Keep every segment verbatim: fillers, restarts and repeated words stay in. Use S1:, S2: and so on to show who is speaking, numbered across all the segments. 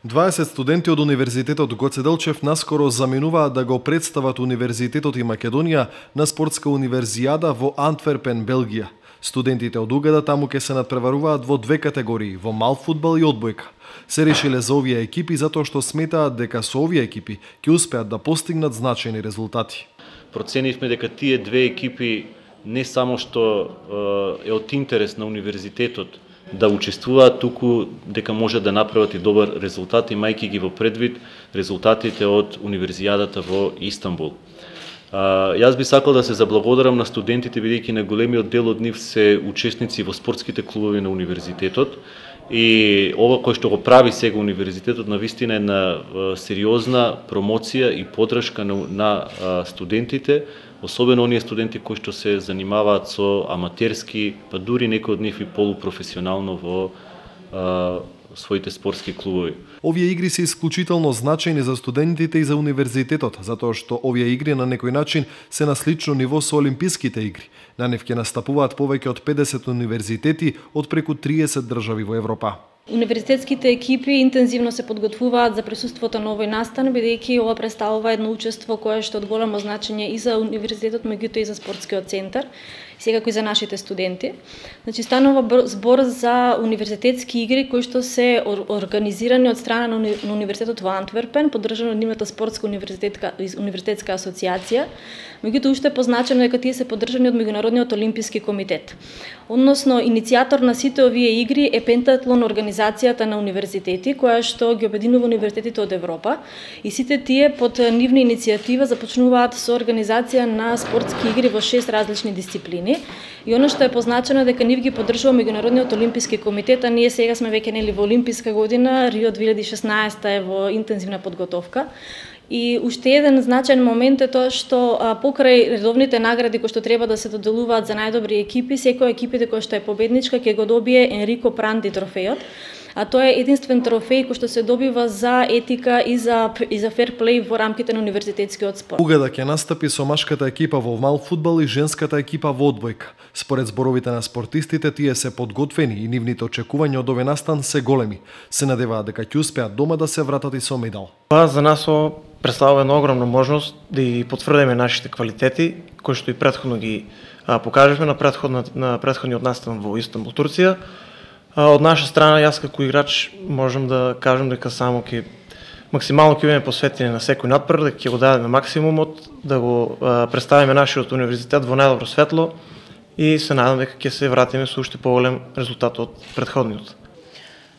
S1: дваесет студенти од Универзитетот Гоце Делчев наскоро заменуваат да го представат Универзитетот и Македонија на спортска универзијада во Антверпен, Белгија. Студентите од Угада таму ќе се надпреваруваат во две категории, во мал фудбал и одбојка. Се решиле за овие екипи затоа што сметаат дека со овие екипи ќе успеат да постигнат значајни резултати.
S2: Проценивме дека тие две екипи не само што е од интерес на универзитетот да учествуваат, туку дека може да направат и добар резултат, имајќи ги во предвид резултатите од универзијадата во Истанбул. А, јас би сакал да се заблагодарам на студентите, бидејќи на големиот дел од нив се учесници во спортските клубови на универзитетот, и ова кој што го прави сега универзитетот навистина е на сериозна промоција и поддршка на, на студентите, особено оние студенти кои што се занимаваат со аматерски, па дури некои од нив и полупрофесионално во а, своите спортски клубови.
S1: Овие игри се исклучително значајни за студентите и за универзитетот, затоа што овие игри на некој начин се на слично ниво со олимписките игри. На нив ќе настапуваат повеќе од педесет универзитети од преку триесет држави во Европа.
S3: Универзитетските екипи интензивно се подготвуваат за присуството на овој настан, бидејќи ова представува едно учество кое што од големо значење и за универзитетот, меѓутоа и за спортскиот центар, секако и за нашите студенти. Значи станува збор за универзитетски игри кои што се организирани од страна на универзитетот во Антверпен, поддржано од нивната спортска универзитетска универзитетска асоциација. Меѓутоа уште е позначено дека тие се поддржани од Меѓународниот олимписки комитет. Односно иницијатор на сите овие игри е Пентатлон организацијата на универзитети, која што ги обединува универзитетите од Европа, и сите тие под нивна иницијатива започнуваат со организација на спортски игри во шест различни дисциплини. И оно што е позначено дека нив ги поддржува Меѓународниот олимписки комитет, а ние сега сме веќе нели во олимписка година, Рио две илјади и шеснаесета е во интензивна подготовка. И уште еден значаен момент е тоа што а, покрај редовните награди кои што треба да се доделуваат за најдобри екипи, секоја екипите која што е победничка ќе го добие Енрико Пранди трофејот. А тоа е единствен трофеј кој што се добива за етика и за и за фер плей во рамките на универзитетскиот спорт.
S1: Угада ќе настапи со машката екипа во мал фудбал и женската екипа во одбојка. Според зборовите на спортистите, тие се подготвени и нивните очекувања од овој настан се големи. Се надеваат дека ќе успеат дома да се вратат и со медал.
S4: Па за нас ова представува една огромна можност да и потврдиме нашите квалитети, кои што и претходно ги а, покажавме на претходна на претходниот настан во Истанбул, Турција. Од наша страна, јас како играч можам да кажам дека само ќе максимално ќе бидеме посветени на секој надпревар, дека ќе го дадеме максимумот, да го а, представиме нашиот универзитет во најдобро светло и се надам дека ќе се вратиме со уште поголем резултат од претходниот.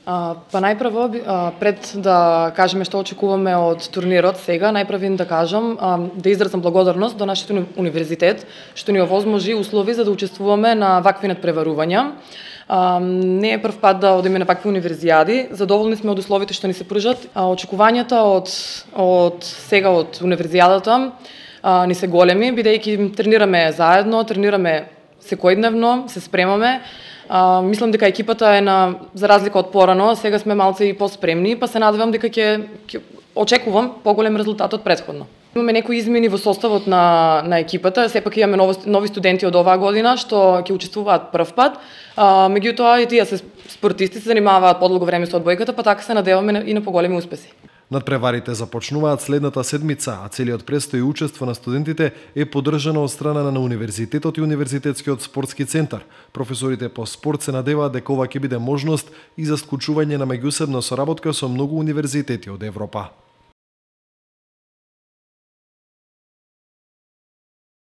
S5: А, па најпрво, а, пред да кажеме што очекуваме од турнирот сега, најпрво да кажам, а, да изразам благодарност до нашиот универзитет, што ни овозможи услови за да учествуваме на вакви надпреварувања. А, не е прв пат да одиме на вакви универзијади, задоволни сме од условите што ни се пружат. А, очекувањата од, од сега од универзијадата а, ни се големи, бидејќи тренираме заедно, тренираме секојдневно, се спремаме. А, мислам дека екипата е на, за разлика од порано, сега сме малце и поспремни, па се надевам дека ќе, ќе очекувам поголем резултат од претходно. Имаме некои измени во составот на, на екипата, сепак имаме нови, нови студенти од оваа година што ќе учествуваат прв пат, а, меѓутоа и тие се спортисти, се занимаваат подлого време со одбојката, па така се надеваме и на поголеми успеси.
S1: Надпреварите започнуваат следната седмица, а целиот престој и учество на студентите е поддржано од страна на универзитетот и универзитетскиот спортски центар. Професорите по спорт се надеваат дека ова ќе биде можност и за склучување на меѓусебна соработка со многу универзитети од Европа.